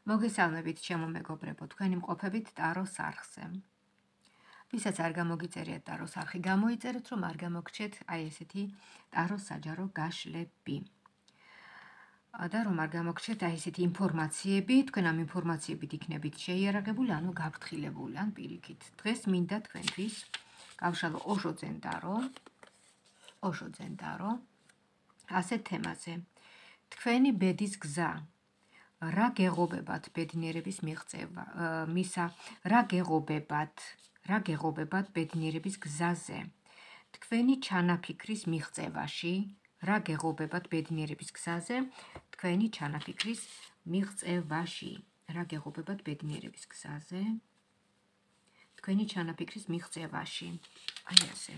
მოგესალმებით, ჩემო მეგობრებო, თქვენი მყოფებით ტაროს არხზე. ვისაც არ გამოგიწერიათ ტაროს არხი, გამოიწერეთ, რომ არ გამოგრჩეთ აი ესეთი ტაროს საჯარო გაშლები. და რომ არ გამოგრჩეთ აი ესეთი ინფორმაციები, თქვენ ამ ინფორმაციებით იქნებით შეიარაღებული, ანუ გაფრთხილებული, ან პირიქით. დღეს მინდა თქვენთვის გავშალო ოშო ძენდარო, ასეთ თემაზე. თქვენი ბედის გზა. რა გეღობებათ ბედნიერების მიღწევა, რა გეღობებათ ბედნიერების გზაზე, თქვენი ჩანაფიქრის მიღწევაში, რა გეღობებათ ბედნიერების გზაზე, თქვენი ჩანაფიქრის მიღწევაში, რა გეღობებათ ბედნიერების გზაზე, თქვენი ჩანაფიქრის მიღწევაში, აი ასე.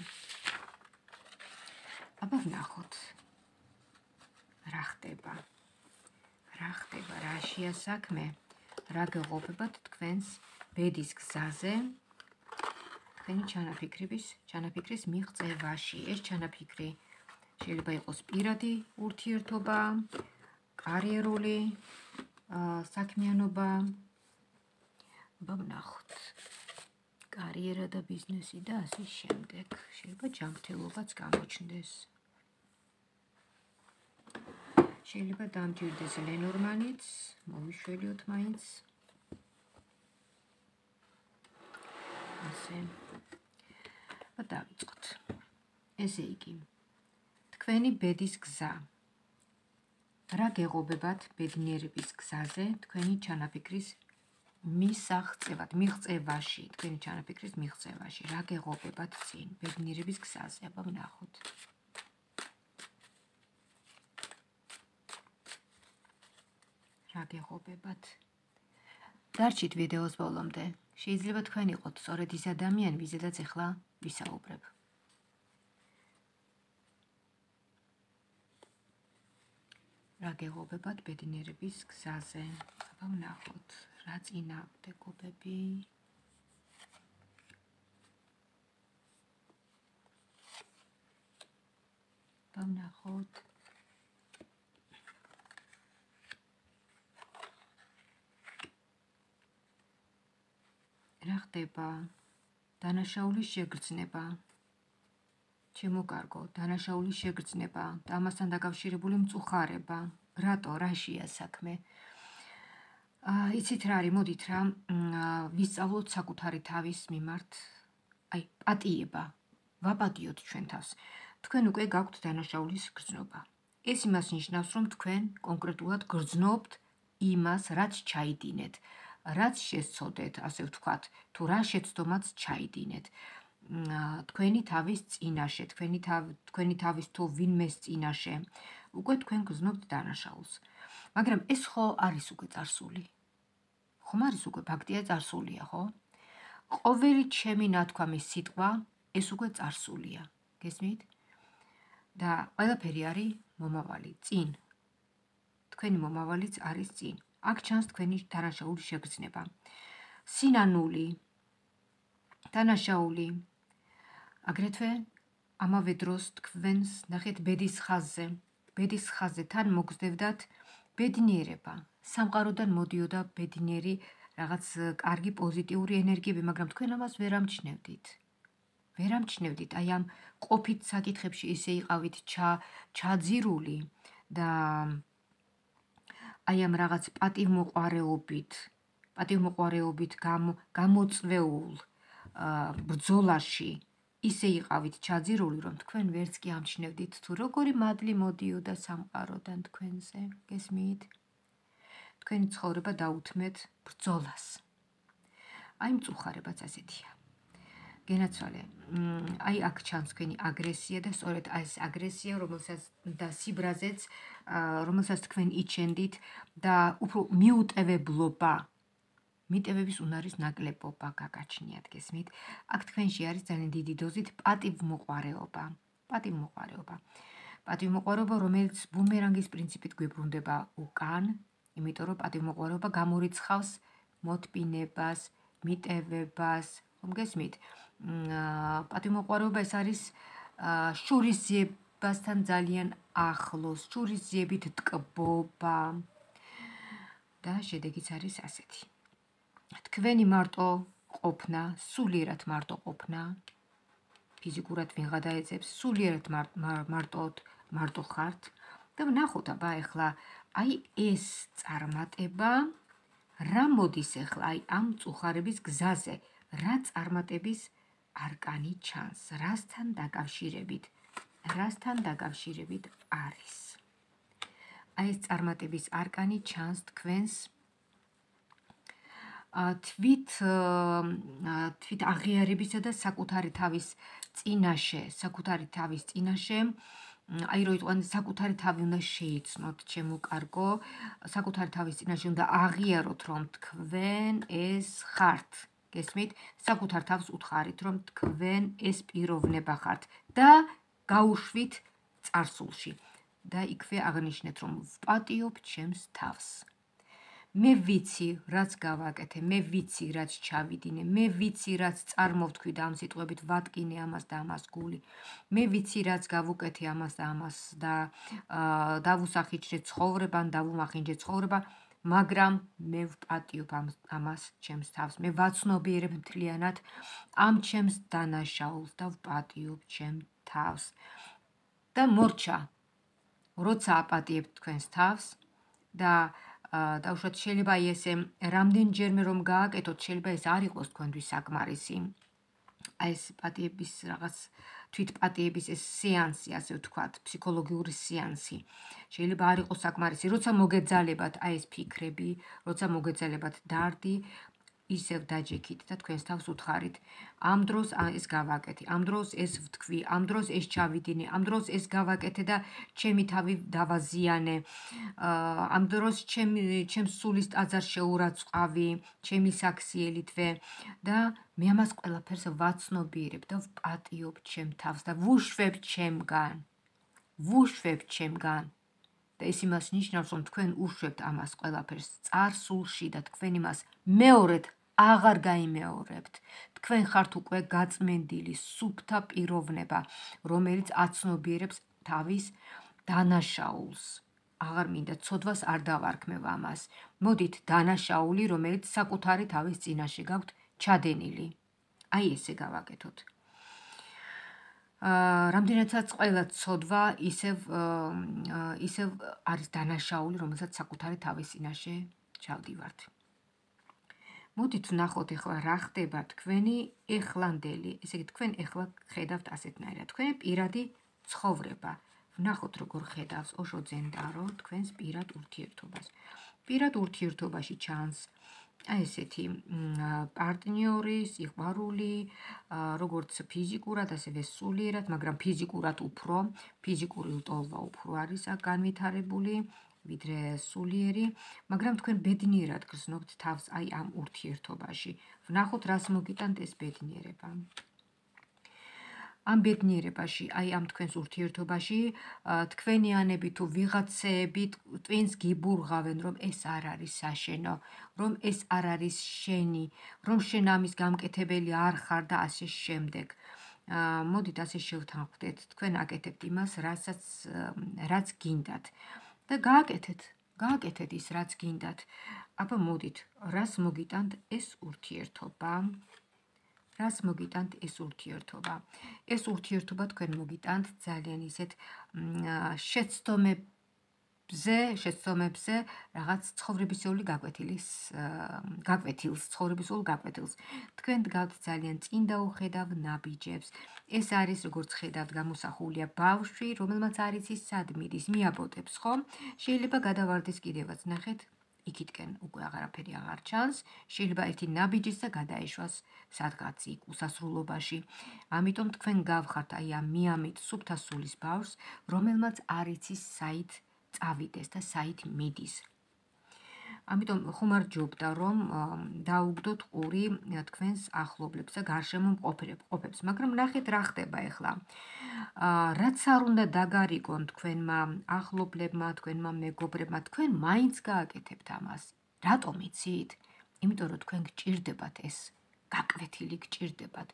აბა ვნახოთ, რა ხდება. რაშია საქმე, რა გეღობებათ თქვენს ბედის გზაზე, თქვენი ჩანაფიქრის მიღწევაში. ეს ჩანაფიქრი შეიძლება იყოს პირადი ურთიერთობა, კარიერული საქმიანობა. აბა ვნახოთ. კარიერა და ბიზნესი და ასე შემდეგ. შეიძლება ჯანმრთელობაც გამოჩნდეს. შეიძლება დამჭირდეს ლენორმანიც, მოვიშველიოთ მაინც. ასე. დავიწყოთ. ესე იგი, თქვენი ბედის გზა. რა გეღობებათ ბედნიერების გზაზე, თქვენი ჩანაფიქრის მიღწევაში, თქვენი ჩანაფიქრის მიღწევაში. რა გეღობებათ წინ ბედნიერების გზაზე, აბა ვნახოთ. რა გეღობებათ. დარჩით ვიდეოს ბოლომდე. შეიძლება თქვენ იყოთ სწორედ ის ადამიანი, ვიზედაც ახლა ვისაუბრებ. რა გეღობებათ ბედნიერების გზაზე. აბა ვნახოთ, რა წინააღმდეგობები. აბა ვნახოთ. რა ხდება? დანაშაულის შეგრძნება. ჩემო კარგო, დანაშაულის შეგრძნება და ამასთან დაკავშირებული მწუხარება. რატო, რაშია საქმე? იცით რა არის, მოდით რა, ვისწავლოთ საკუთარი თავის მიმართ, პატიება. ვაპატიოთ ჩვენ თავს. თქვენ უკვე გაქვთ დანაშაულის გრძნობა. ეს იმას ნიშნავს, რომ თქვენ კონკრეტულად გრძნობთ იმას, რაც ჩაიდინეთ. რაც შესწოდეთ, ასე ვთქვათ, თუ რა შეცდომაც ჩაიდინეთ. თქვენი თავის წინაშე, თქვენი თავის თუ ვინმეს წინაშე, უკვე თქვენ გრძნობთ დანაშაულს. მაგრამ ეს ხო არის უკვე წარსული. ხომ არის უკვე ფაქტია წარსულია, ხო? ყოველი ჩემი ნათქვამის სიტყვა ეს უკვე წარსულია. გესმით? და ყველაფერი არის მომავალი, წინ. თქვენი მომავალიც არის წინ. აქ ჩანს თქვენი დანაშაულის შეგრძნება. სინანული, დანაშაული. აგრეთვე ამავე დროს თქვენს ნახეთ ბედის ხაზზე თან მოგზდევდათ ბედნიერება. სამყაროდან მოდიოდა ბედნიერი რაღაც კარგი პოზიტიური ენერგიები, მაგრამ თქვენ ამას ვერ ამჩნევდით. აი ამ ყოფით საკითხებში ისე იყავით ჩაძირული და აი ამ რაღაც პატივმოყვარეობით გამოწვეულ ბრძოლაში ისე იყავით ჩაძირული, რომ თქვენ ვერც კი ამჩნევდით თუ როგორი მადლი მოდიოდა სამყაროდან თქვენზე, გესმით? თქვენი ცხოვრება დაუთმეთ ბრძოლას. აი მწუხარებაც ასეთია. გენაცვალე, აი აქ ჩანს თქვენი აგრესია და სწორედ ეს აგრესია, და სიბრაზეც, რომელსაც თქვენ იჩენდით და უფრო მიუტევებლობა, მიტევების უნარის ნაკლებობა გაგაჩნიათ, გესმით? აქ თქვენში არის ძალიან დიდი დოზით პატივმოყვარეობა. პატივმოყვარეობა, რომელიც ბუმერანგის პრინციპით გვიბრუნდება უკან, იმიტომ რომ პატივმოყვარეობა გამორიცხავს მოტპინებას, მიტევებას, ხომ გესმით? პატივმოყვარეობა ეს არის შურისძიებასთან ძალიან ახლოს, შურისძიებით ტკბობა. და შედეგიც არის ასეთი. თქვენი მარტო ყოფნა, სულიერად მარტო ყოფნა, ფიზიკურად ვიღა დაეძებს, სულიერად მარტო ხართ და ვნახოთ აბა ეხლა აი ეს წარმატება რა მოდის ეხლა აი ამ მწუხარების გზაზე, რა წარმატების არკანი ჩანს, რასთან დაკავშირებით არის. აი ეს წარმატების არკანი ჩანს თქვენს თვით აღიარებისა და საკუთარი თავის წინაშე, აი რო იტყვიან საკუთარი თავი უნდა შეიცნოთ, ჩემო კარგო, საკუთარი თავის წინაშე უნდა აღიაროთ, რომ თქვენ ეს ხართ. გესმით? საკუთარ თავს უთხარით, რომ თქვენ ეს პიროვნება ხართ და გაუშვით წარსულში. და იქვე აღნიშნეთ, რომ ვპატიობ ჩემს თავს. მე ვიცი, რაც გავაკეთე, მე ვიცი, რაც ჩავიდინე, მე ვიცი, რაც წარმოვთქვი და ამ სიტყვებით ვატკინე ამას და ამას გული. მე ვიცი, რაც გავუკეთე ამას და ამას და დავუსახიჩრე ცხოვრება, დავუმახინჯე ცხოვრება, მაგრამ მე ვპატიობ ამას ჩემს თავს. მე ვაცნობიერებ მთლიანად ამ ჩემს დანაშაულს და ვპატიობ ჩემ თავს. და მორჩა, როცა აპატიებთ თქვენს თავს და უშუალოდ შეიძლება ესე რამდენჯერმე რომ გააკეთოთ, შეიძლება ეს არ იყოს თქვენთვის საკმარისი. აი ეს პატიების რაღაც თვითპატიების ეს სეანსი, ასე ვთქვათ, ფსიქოლოგიური სეანსი. შეიძლება არ იყოს საკმარისი, როცა მოგეძალებათ აი ეს ფიქრები, როცა მოგეძალებათ დარდი, ისევ დაჯექით და თქვენს თავს უთხარით. ამ დროს ეს გავაკეთე, ამ დროს ეს ვთქვი, ამ დროს ეს ჩავიდინე, ამ დროს ეს გავაკეთე და ჩემი თავი დავაზიანე. ამ დროს ჩემს სულის ტაძარს შეურაცხყვი, ჩემი საქსიელითვე და მე ამას ყველაფერს ვაცნობიერებ და ვპატიობ ჩემ თავს და ვუშვებ ჩემგან. და ეს იმას ნიშნავს, რომ თქვენ უშვებთ ამას ყველაფერს წარსულში და თქვენ იმას მეორედ აღარ გაიმეორებთ. თქვენ ხართ უკვე გაწმენდილი სუფთა პიროვნება, რომელიც აცნობიერებს თავის დანაშაულს. აღარ მინდა ცოდვას არ დავარქმევ ამას. მოდით დანაშაული, რომელიც საკუთარი თავის წინაშე გაქვთ ჩადენილი. აი ესე გავაკეთოთ. რამდენადაც ყველა ცოდვა ისევ არის დანაშაული, რომელსაც საკუთარი თავის წინაშე ჩავდივართ. მოდით ვნახოთ ეხლა რა ხდება თქვენი ეხლანდელი, ესე იგი თქვენ ეხლა ხედავთ ასეთნაირად, თქვენი პირადი ცხოვრება. ვნახოთ როგორ ხედავს ოშო ძენდარო თქვენს პირად ურთიერთობას. პირად ურთიერთობაში ჩანს აი ესეთი პარტნიორის, სიყვარული, როგორც ფიზიკურად, ასევე სულიერად, მაგრამ ფიზიკურად უფრო, ფიზიკური ლტოლვა უფრო არის განვითარებული, ვიდრე სულიერი, მაგრამ თქვენ ბედნიერად გრძნობთ თავს აი ამ ურთიერთობაში. ვნახოთ რას მოგიტანთ ეს ბედნიერება. ამ ბედნიერებაში, აი ამ თქვენს ურთიერთობაში, თქვენიანები თუ ვიღაცეები twins გიბურღავენ, რომ ეს არ არის საშენო, რომ ეს არ არის შენი, რომ შენ ამის გამკეთებელი არ ხარ და ასე შემდეგ. მოდით ასე შევთანხმდეთ, თქვენ აკეთებთ იმას, რაც გინდათ და გააკეთეთ ის, რაც გინდათ. აბა მოდით, რას მოგიტანთ ეს ურთიერთობა? რას მოგიტანთ ეს ურთიერთობა? ეს ურთიერთობა თქვენ მოგიტანთ ძალიან ისეთ შეცდომებზე რაღაც ცხოვრებისეული გაკვეთილს. თქვენ დგავთ ძალიან წინ დაუხედავ ნაბიჯებს. ეს არის, როგორც ხედავთ, გამოსახულია ბავშვი, რომელმაც არ იცის სად მიდის, მიაბოტებს, ხო? შეიძლება გადავარდეს კიდევაც, ნახეთ, იქითკენ უკვე აღარაფერი აღარ ჩანს, შეიძლება ერთი ნაბიჯის და გადაეშვას სადღაც იქ უსასრულობაში. ამიტომ თქვენ გავხართ აი ამ მიამით სუფთა სულის ბავშვს, რომელმაც არ იცის საით წავიდეს და საით მიდის. ამიტომ ხუმარჯობდა, რომ დაუგდოთ ყური თქვენს ახლობლებს და გარშემო მყოფებს, მაგრამ ნახეთ რა ხდება ახლა. რაც არ უნდა დაგარიგონ თქვენმა ახლობლებმა, თქვენმა მეგობრებმა, თქვენ მაინც გააკეთებთ ამას. რატომ იცით? იმიტომ რომ თქვენ გჭირდებათ ეს გაკვეთილი გჭირდებათ.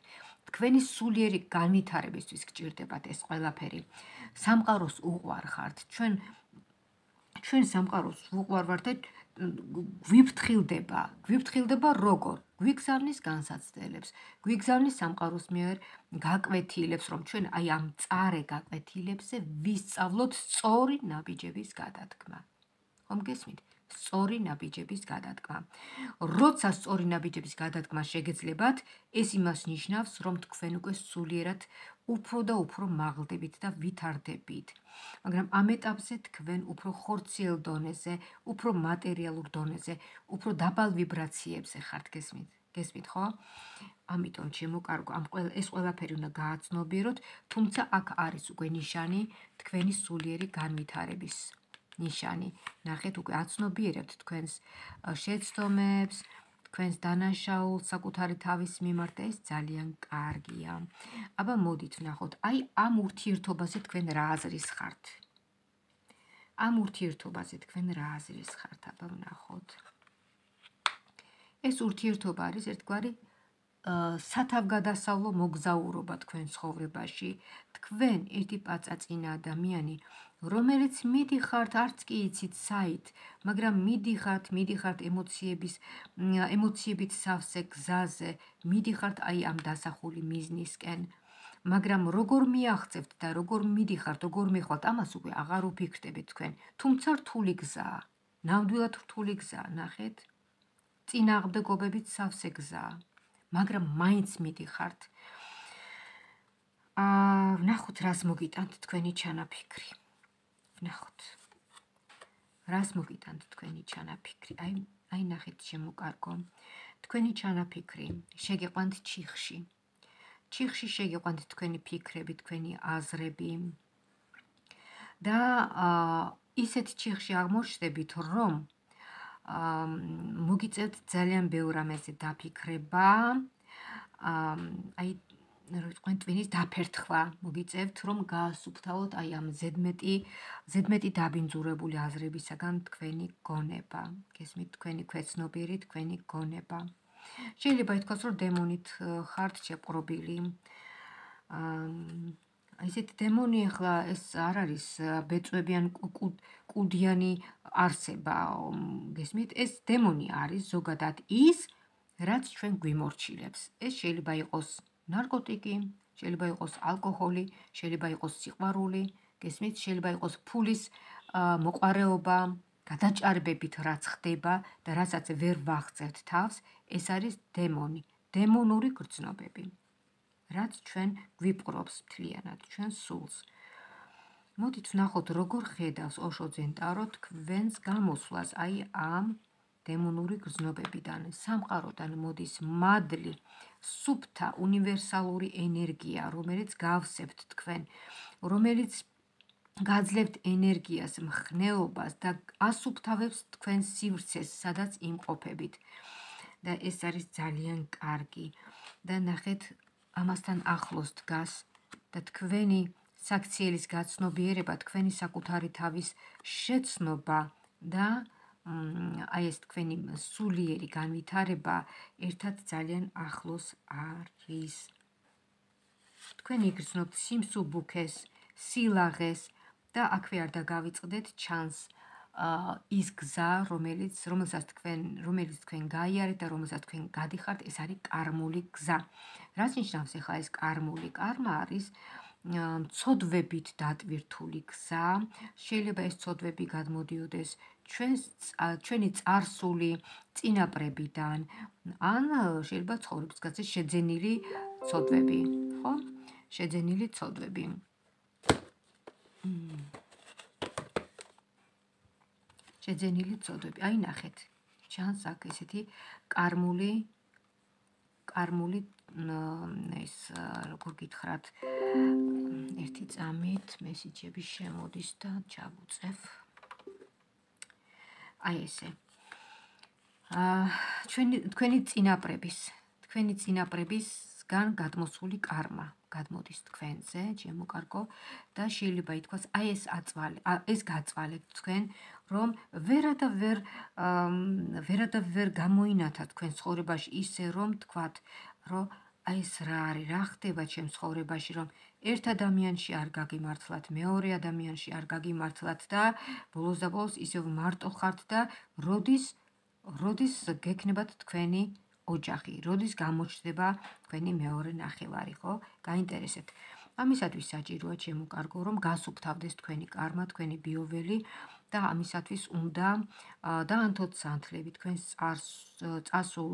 თქვენი სულიერი განვითარებისთვის გჭირდებათ ეს ყველაფერი. სამყაროს უყვარ ხართ. ჩვენ სამყაროს უყვარ ვართ და გვიფრთხილდება როგორ? გვიგზავნის განსაცდელებს, გვიგზავნის სამყაროს მიერ გაკვეთილებს, რომ ჩვენ აი ამ მწარე გაკვეთილებზე ვისწავლოთ სწორი ნაბიჯების გადადგმა. ხომ გესმით? სწორი ნაბიჯების გადადგმა. როცა სწორი ნაბიჯების გადადგმა შეგეძლებათ, ეს იმას ნიშნავს, რომ თქვენ უკვე სულიერად უფრო და უფრო მაღლდებით და ვითარდებით. მაგრამ ამ ეტაპზე თქვენ უფრო ხორციელ დონეზე, უფრო მატერიალურ დონეზე, უფრო დაბალ ვიბრაციებზე ხართ, გესმით, ხო? ამიტომ შემოკარგო, ეს ყველაფერი უნდა გააცნობიეროთ, თუმცა აქ არის უკვე ნიშანი თქვენი სულიერი განვითარების ნიშანი. ნახეთ, უკვე აცნობიერებთ თქვენს შეცდომებს, თქვენს დანაშაულს საკუთარი თავის მიმართ და ეს ძალიან კარგია. აბა მოდით ვნახოთ, აი ამ ურთიერთობაზე თქვენ რა აზრის ხართ? აბა ვნახოთ. ეს ურთიერთობა არის ერთგვარი სათავგადასავლო მოგზაურობა თქვენ ცხოვრებაში. თქვენ ერთი პაწაწინა ადამიანი, რომელიც მიდიხართ, არც კი იცით საით, მაგრამ მიდიხართ ემოციებით სავსე გზაზე, მიდიხართ აი ამ დასახული მიზნისკენ. მაგრამ როგორ მიაღწევთ და როგორ მიდიხართ, როგორ მიხვალთ, ამას უკვე აღარ უფიქრდებით თქვენ. თუმცა რთული გზაა, ნამდვილად რთული გზაა, ნახეთ. წინააღმდეგობებით სავსე გზაა, მაგრამ მაინც მიდიხართ. ვნახოთ, რას მოგიტანთ თქვენი ჩანაფიქრი. აი ნახეთ, შემოკარგო. თქვენი ჩანაფიქრი შეგიყვანთ ჩიხში. ჩიხში შეგიყვანთ თქვენი ფიქრები, თქვენი აზრები. და ისეთ ჩიხში აღმოჩნდებით, რომ მოგიწევთ ძალიან ბევრ რამეზე დაფიქრება, აი ტვინის დაფერთხვა მოგიწევთ, რომ გაასუფთავოთ აი ამ ზედმეტი დაბინძურებული აზრებისაგან თქვენი გონება. გესმით, თქვენი ქვეცნობიერი, თქვენი გონება. შეიძლება ითქვას, რომ დემონით ხართ შეპყრობილი. ესეთი დემონი ახლა ეს არ არის ბეწვებიან კუდიანი არსება, გესმით, ეს დემონი არის ზოგადად ის, რაც ჩვენ გვიმორჩილებს. ეს შეიძლება იყოს ნარკოტიკი, შეიძლება იყოს ალკოჰოლი, შეიძლება იყოს სიყვარული, გესმით, შეიძლება იყოს ფულის მოყვარეობა, გადაჭარბებით რაც ხდება და რასაც ვერ ვაღწევთ თავს, ეს არის დემონი, დემონური გრძნობები. რაც ჩვენ გვიპყრობს მთლიანად, ჩვენ სულს. მოდით ვნახოთ, როგორ ხედავს ოშო ძენტარო თქვენს გამოსვლას აი ამ დემონური გრძნობებიდან. სამყაროდან მოდის მადლი, სუფთა, უნივერსალური ენერგია, რომელიც გავსებთ თქვენ, რომელიც გაძლევთ ენერგიას, მხნეობას და ასუფთავებს თქვენ სივრცეს, სადაც იმყოფებით. და ეს არის ძალიან კარგი. და ნახეთ, ამასთან ახლოს დგას და თქვენი საქციელის გაცნობიერება, თქვენი საკუთარი თავის შეცნობა და აი ეს თქვენი სულიერი განვითარება ერთად ძალიან ახლოს არის. თქვენ იგრძნობთ სიმსუბუქეს, სილაღეს და აქვე არ დაგავიწყდეთ ჩანს ის გზა, რომელსაც თქვენ გაიარეთ და რომელსაც თქვენ გადიხართ, ეს არის კარმული გზა. რაც ნიშნავს ახლა ეს კარმული? კარმა არის ცოდვებით დატვირთული გზა. შეიძლება ეს ცოდვები გადმოდიოდეს ჩვენი წარსული წინაპრებიდან, ან შეიძლება ცხოვრების გზაზე შეძენილი ცოდვები, ხო? შეძენილი ცოდვები. აი ნახეთ, ჩანს აქ ესეთი კარმული ეს როგორ გითხრათ, ერთი წამით მესიჯები შემოდის და ჩავუწევ. აი ესე. თქვენი წინაპრებისგან გადმოსული კარმა გადმოდის თქვენზე, ჩემო კარგო, და შეიძლება ითქვას, აი ეს გაწვალეთ თქვენ, რომ ვერადავერ გამოინათათ თქვენ ცხოვრებაში ისე, რომ თქვათ, რომ აი ეს რა არის, რა ხდება ჩემს ცხოვრებაში, რომ ერთ ადამიანში არ გაგიმართლათ, მეორე ადამიანში არ გაგიმართლათ და ბოლოს და ბოლოს ისევ მარტო ხართ და როდის გექნებათ თქვენი ოჯახი, როდის გამოჩნდება თქვენი მეორე ნახევარი, ხო? გაინტერესებთ. ამისათვის საჭიროა ჩემო კარგო, რომ გასუფთავდეს თქვენი კარმა, თქვენი ბიოველი და ამისათვის უნდა დაანთოთ სანთლები თქვენს წასულ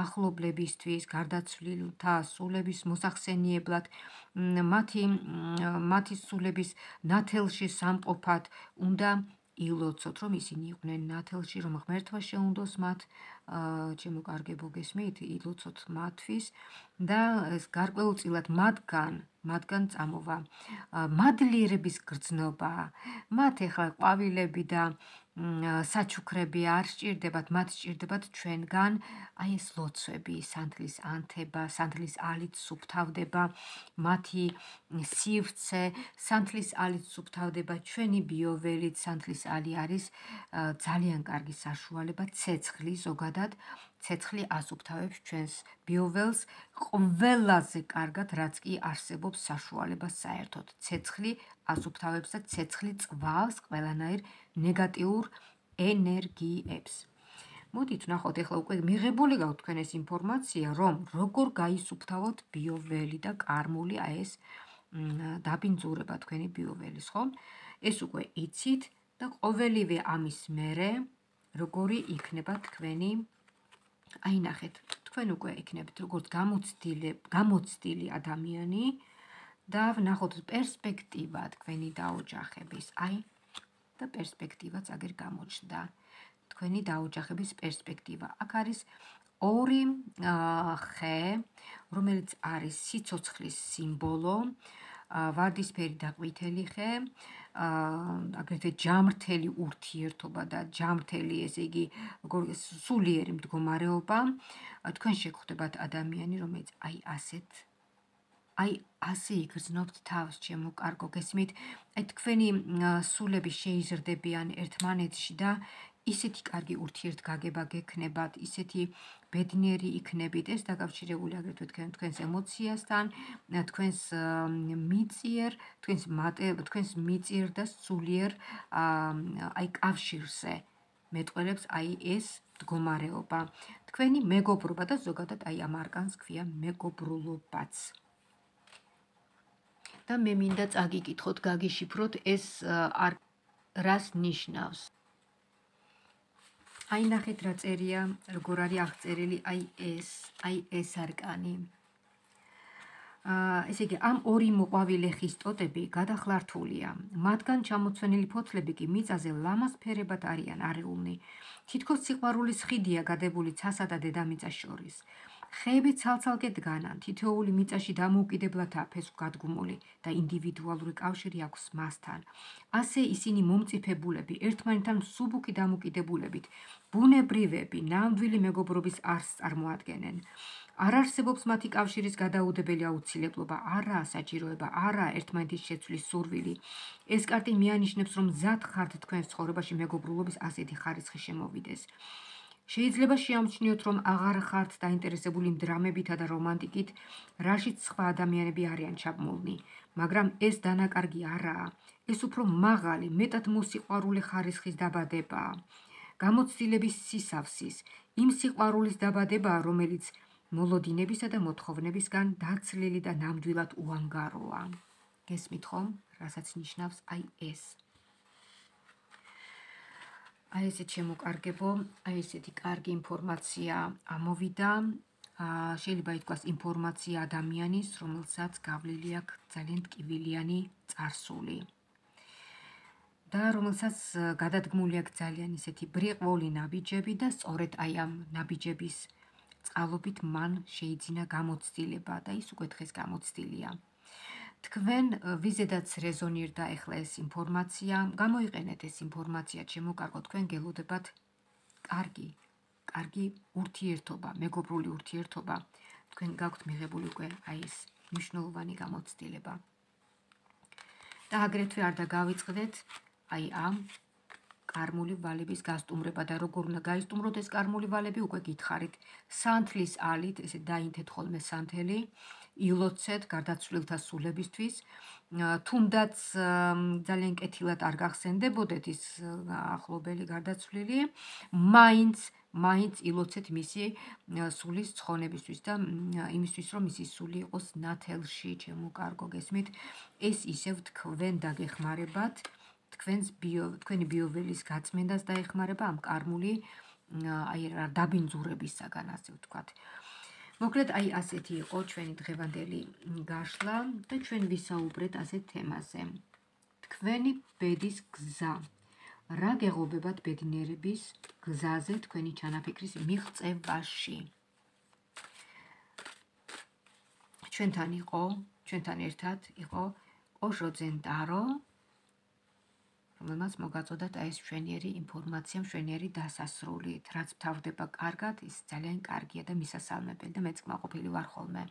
ახლობლებისთვის, გარდაცვლილთა სულების მოსახსენიებლად, მათი სულების ნათელში სამყოფად უნდა ილოცოთ, რომ ისინი იყვნენ ნათელში, რომ ღმერთმა შეუნდოს მათ, ჩემო კარგებო, გესმით, ილოცოთ მათთვის და გარკვეულწილად მათგან წამოვა მადლიერების გრძნობა. მათ ეხლა ყვავილები და საჩუქრები არ სჭირდებათ, მათ სჭირდებათ ჩვენგან აი ეს ლოცვები, სანთლის ანთება, სანთლის ალით სუფთავდება მათი სივრცე, სანთლის ალით სუფთავდება ჩვენი ბიოველით. სანთლის ალი არის ძალიან კარგი საშუალება, ცეცხლი ზოგადად, ცეცხლი ასუფთავებს ჩვენს ბიოველს ყველაზე კარგად, რაც კი არსებობს საშუალება საერთოდ. ცეცხლი ასუფთავებს და ცეცხლი წვავს ყველანაირ ნეგატიურ ენერგიებს. მოდით ვნახოთ, ეხლა უკვე მიღებული გაქვთ თქვენ ეს ინფორმაცია, რომ როგორ გაისუფთავოთ ბიოველი და კარმული აი ეს დაბინძურება თქვენი ბიოველის, ხო? ეს უკვე იცით და ყოველივე ამის მერე როგორი იქნება თქვენი, აი ნახეთ, თქვენ უკვე იქნებით როგორც გამოცდილი ადამიანი და ვნახოთ პერსპექტივა თქვენი დაოჯახების, აი და პერსპექტივაც აგერ გამოჩნდა. თქვენი დაოჯახების პერსპექტივა. აქ არის ორი ხე, რომელიც არის სიცოცხლის სიმბოლო, ვარდისფერი და ყვითელი ხე, აგრეთვე ჯამრთელი ურთიერთობა და ჯამრთელი, ესე იგი, სულიერი მდგომარეობა. თქვენ შეგხვდებათ ადამიანი, რომელიც აი ასე იგრძნობთ თავს, ჩემო კარგო, გესმით? აი თქვენი სულები შეიზრდებიან ერთმანეთში და ისეთი კარგი ურთიერთგაგება გექნებათ, ისეთი ბედნიერი იქნებით, ეს დაკავშირებული აგრეთვე თქვენს ემოციასთან, თქვენს მიწიერ და სულიერ აი კავშირზე მეტყველებს აი ეს მდგომარეობა. თქვენი მეგობრობა და ზოგადად აი ამ არკანს ქვია მეგობრულობაც. და მე მინდა წაგიკითხოთ, გაგიშიფროთ ეს რას ნიშნავს. აი ნახეთ რა წერია, როგორ არის აღწერილი აი ეს არკანი. ესე იგი, ამ ორი მოყვავილე ხის ტოტები გადახლართულია. მათგან ჩამოცვენილი ფოთლები კი მიწაზე ლამაზ ფერებად არიან არეულნი. თითქოს სიყვარულის ხიდია გადებული ცასა და დედამიწას შორის. ხეები ცალ-ცალკე დგანან, თითოეული მიწაში დამოუკიდებლადაა ფესვგადგმული და ინდივიდუალური კავშირი აქვს მასთან. ასე ისინი მომწიფებულები, ერთმანეთთან მსუბუქი დამოკიდებულებით, ბუნებრივები, ნამდვილი მეგობრობის არსს წარმოადგენენ. არ არსებობს მათი კავშირის გადაუდებელი აუცილებლობა, არაა საჭიროება, არაა ერთმანეთის შეცვლის სურვილი. ეს კარტი მიანიშნებს, რომ მზად ხართ თქვენს ცხოვრებაში მეგობრულობის ასეთი ხარისხი შემოვიდეს. შეიძლება შეამჩნიოთ, რომ აღარ ხართ დაინტერესებული იმ დრამებითა და რომანტიკით, რაშიც სხვა ადამიანები არიან ჩაბმულნი, მაგრამ ეს დანაკარგი არაა. ეს უფრო მაღალი, მეტად მოსიყვარულე ხარისხის დაბადებაა. გამოცდილების სისავსის, იმ სიყვარულის დაბადებაა, რომელიც მოლოდინებისა და მოთხოვნებისგან დაცლილი და ნამდვილად უანგაროა. გესმით ხომ, რასაც ნიშნავს აი ეს. აი ესე შემოკარგებო, აი ესეთი კარგი ინფორმაცია ამოვიდა. შეიძლება ითქვას ინფორმაცია ადამიანის, რომელსაც გავლილი აქვს ძალიან ტკივილიანი წარსული. და რომელსაც გადადგმული აქვს ძალიან ისეთი ბრიყვოლი ნაბიჯები და სწორედ აი ამ ნაბიჯების წყალობით მან შეიძინა გამოცდილება და ის უკვე დღეს გამოცდილია. თქვენ ვიზედაც რეზონირდა ახლა ეს ინფორმაცია, გამოიყენეთ ეს ინფორმაცია, ჩემო კარგო, თქვენ გელოდებათ კარგი ურთიერთობა, მეგობრული ურთიერთობა. თქვენ გაქვთ მიღებული უკვე აი ეს მნიშვნელოვანი გამოცდილება. და აგრეთვე არ დაგავიწყდეთ აი ამ კარმული ვალების გასტუმრება და როგორ უნდა გაისტუმროთ ეს კარმული ვალები, უკვე გითხარით. სანთლის ალით, ესე დაინთეთ ხოლმე სანთელი, ილოცეთ გარდაცვლილთა სულებისთვის. თუნდაც ძალიან კეთილად არ გახსენდებოდეთ ის ახლობელი გარდაცვლილი, მაინც ილოცეთ მისი სულის ცხონებისთვის და იმისთვის, რომ მისი სული იყოს ნათელში, ჩემო კარგო, გესმით, ეს ისევ თქვენ დაგეხმარებათ, თქვენი ბიოველის გაწმენდას დაეხმარება ამ კარმული დაბინძურებისაგან, ასე ვთქვათ. მოკლედ, ასეთი იყო ჩვენი დღევანდელი გაშლა და ჩვენ ვისაუბრეთ ასეთ თემაზე. თქვენი ბედის გზა. რა გეღობებათ ბედნიერების გზაზე თქვენი ჩანაფიქრის მიღწევაში? ჩვენთან ერთად იყო ოჟო ძენტარო, რომელმაც მოგაწოდათ ეს მშვენიერი ინფორმაცია, მშვენიერი დასასრულით. რაც მთავრდება კარგად, ის ძალიან კარგია და მისასალმებელი და მეც კმაყოფილი ვარ ხოლმე.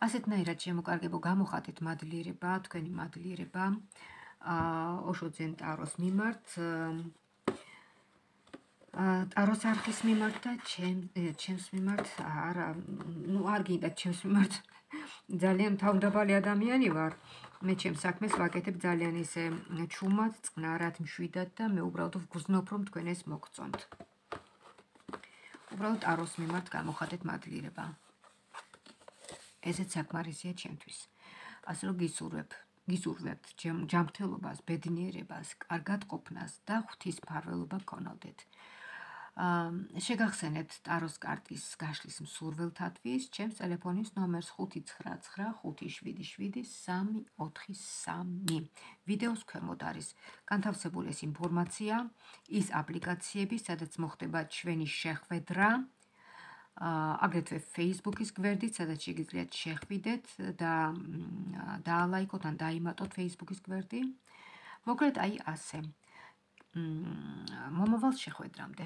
ასეთნაირად შემოკარგებო, გამოხატეთ მადლიერება, თქვენი მადლიერება ოჟო ძენტაროს მიმართ, ტაროს არხის მიმართ და ჩემს მიმართ, არ გინდა ჩემს მიმართ. ძალიან თავმდაბალი ადამიანი ვარ. მე ჩემს საქმეს ვაკეთებ ძალიან ისე ჩუმად, წყნარად, მშვიდად და მე უბრალოდ ვგრძნობ, რომ თქვენ ეს მოგწონთ. უბრალოდ ტაროს მიმართ გამოხატეთ მადლიერება. ესეც საკმარისია ჩემთვის. ასე რომ გისურვებთ ჯანმრთელობას, ბედნიერებას, კარგად ყოფნას და ღვთისმფარველობა გქონოდეთ. შეგახსენებთ ტაროს კარტის გაშლის მსურველთათვის ჩემს ტელეფონის ნომერს 599777343. ვიდეოს ქვემოთ არის განთავსებული ეს ინფორმაცია, ის აპლიკაციები, სადაც მოხდება ჩვენი შეხვედრა, აგრეთვე Facebook-ის გვერდით, სადაც შეგიძლიათ შეხვიდეთ და დაალაიქოთ ან დაიმატოთ Facebook-ის გვერდი. მოკლედ, ასე. მომავალ შეხვედრამდე.